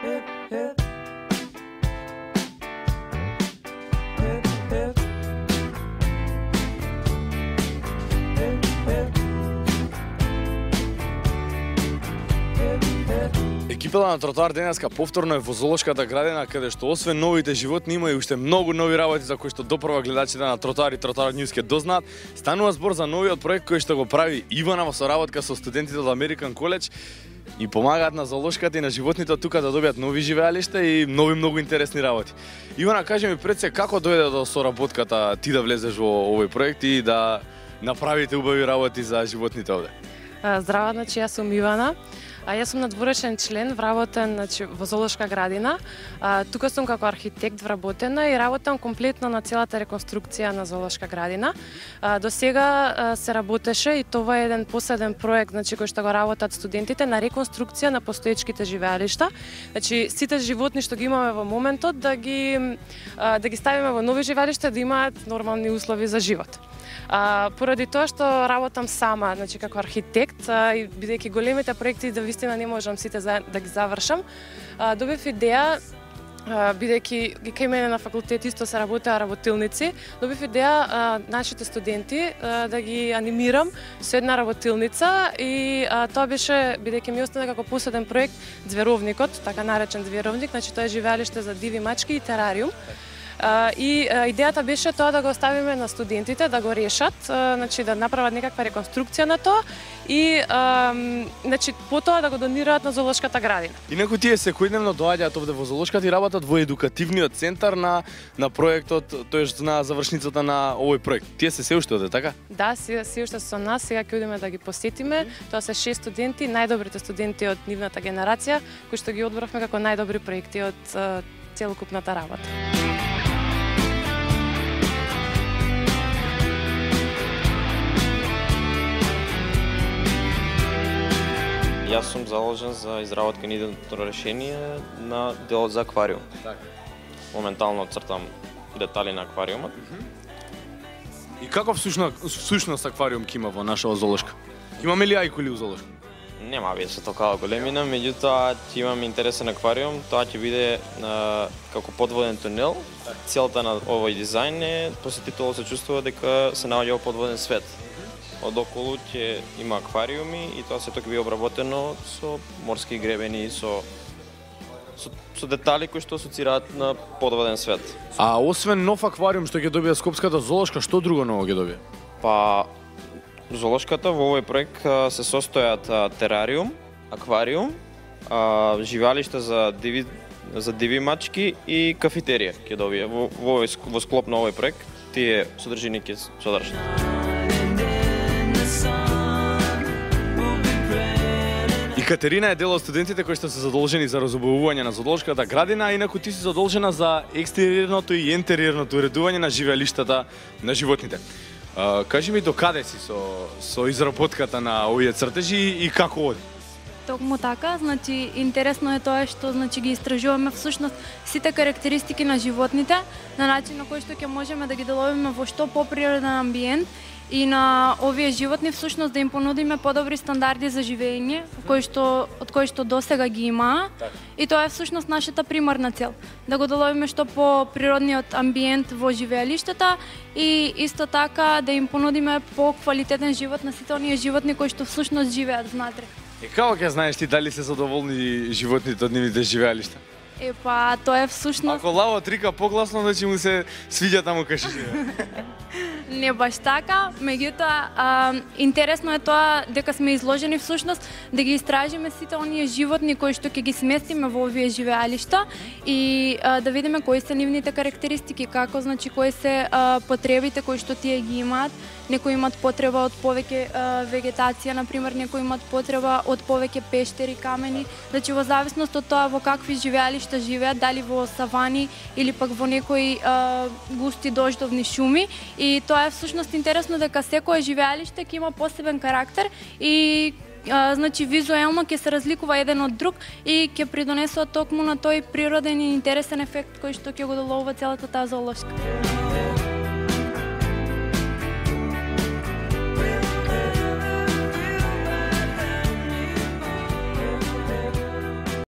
Екипата на Тротоар денеска повторно е во зоолошката градина, каде што освен новите животни има и уште многу нови работи за кои што допрва гледачите на Тротоар и Тротоар Ньюс ќе дознаат. Станува збор за новиот проект кој што го прави Ивана во соработка со студентите од Американ коледж и помагаат на зоолошката и на животните тука да добијат нови живеалишта и нови многу интересни работи. Ивана, кажи ми пред се како дојде до соработката ти да влезеш во овој проект и да направите убави работи за животните овде? Здраво, значи јас сум Ивана. Јас сум надворешен член, вработен во зоолошка градина. Тука сум како архитект вработена и работам комплетно на целата реконструкција на зоолошка градина. До сега се работеше и това е еден последен проект, значи кој што го работат студентите на реконструкција на постоечките живеалишта. Значи сите животни што ги имаме во моментот да ги ставиме во нови живеалишта да имаат нормални услови за живот. Поради тоа што работам сама, значи како архитект, и бидејќи големите проекти да вистина не можам сите да ги завршам, добив идеја, бидејќи кај мене на факултет исто се работилници, добив идеја нашите студенти да ги анимирам со една работилница и тоа беше, бидејќи ми остана како последен проект Зверовникот, така наречен Зверовник, значи тоа е живеалиште за диви мачки и терариум. И идејата беше тоа да го оставиме на студентите да го решат, значи да направат некаква реконструкција на тоа и значи потоа да го донираат на зоолошката градина. Инаку тие секојдневно доаѓаат овде во зоолошката и работат во едукативниот центар на проектот, тоест на завршницата на овој проект. Тие се уште овде, така? Да, се уште со нас, сега ќе одиме да ги посетиме. Тоа се 6 студенти, најдобрите студенти од нивната генерација, кои што ги одбравме како најдобри проекти од целокупната работа. Јас сум заложен за изработка на идејно решение на делот за аквариум. Моментално цртам детали на аквариумот. И каков сушност аквариум ќе има во нашава зоолошка? Имаме ли ајкули у зоолошка? Нема вие со толкова големина, меѓутоа ќе имам интересен аквариум, тоа ќе биде како подводен тунел. Целта на овој дизајн е посетителот се чувствува дека се наоѓа во подводен свет. Од околу ќе има аквариуми и тоа сето ќе биде обработено со морски гребени, со детали кои што асоцираат на подводен свет. А освен нов аквариум што ќе добие Скопската зоолошка, што друго ново ќе добие? Па зоолошката во овој проект се состојат терариум, аквариум, живеалишта за диви мачки и кафетерија ќе добие во склоп на овој проект. Тие содржини ќе содржат. Катерина е дел од студентите кои што се задолжени за разубавување на зоолошката градина, а инаку ти си задолжена за екстериорното и интериорното уредување на живеалиштата на животните. Кажи ми до каде си со изработката на овие цртежи и како оди? Токму така, значи интересно е тоа што значи ги истражуваме всушност сите карактеристики на животните на начин на кој што ќе можеме да ги деловиме во што поприроден амбиент и на овие животни всушност да им понудиме подобри стандарди за живење, од кои што досега ги имаа. И тоа е всушност нашата примарна цел, да го доловиме што по природниот амбиент во живеалиштата и исто така да им понудиме по-квалитетен живот на сите оние животни кои што всушност живеат внатре. И како ќе знаеш ти дали се задоволни животните од нивните живеалишта? Па тоа е всушност. Ако лавот рика погласно, значи му се свиѓа таму кај живее. Не баш така, меѓутоа интересно е тоа дека сме изложени всушност да ги истражиме сите оние животни кои што ќе ги сместиме во овие живеалишта и да видиме кои се нивните карактеристики, како значи кои се потребите кои што тие ги имаат. Некои имаат потреба од повеќе вегетација, например, некои имаат потреба од повеќе пештери, камени, значи во зависност од тоа во какви живеалишта живеат, дали во савани или пак во некои густи дождовни шуми. И тоа е всушност интересно дека секое живеалиште ќе има посебен карактер и значи визуелно ќе се разликува еден од друг и ќе придонесува токму на тој природен и интересен ефект кој што ќе го доловува целата таа зоолошка.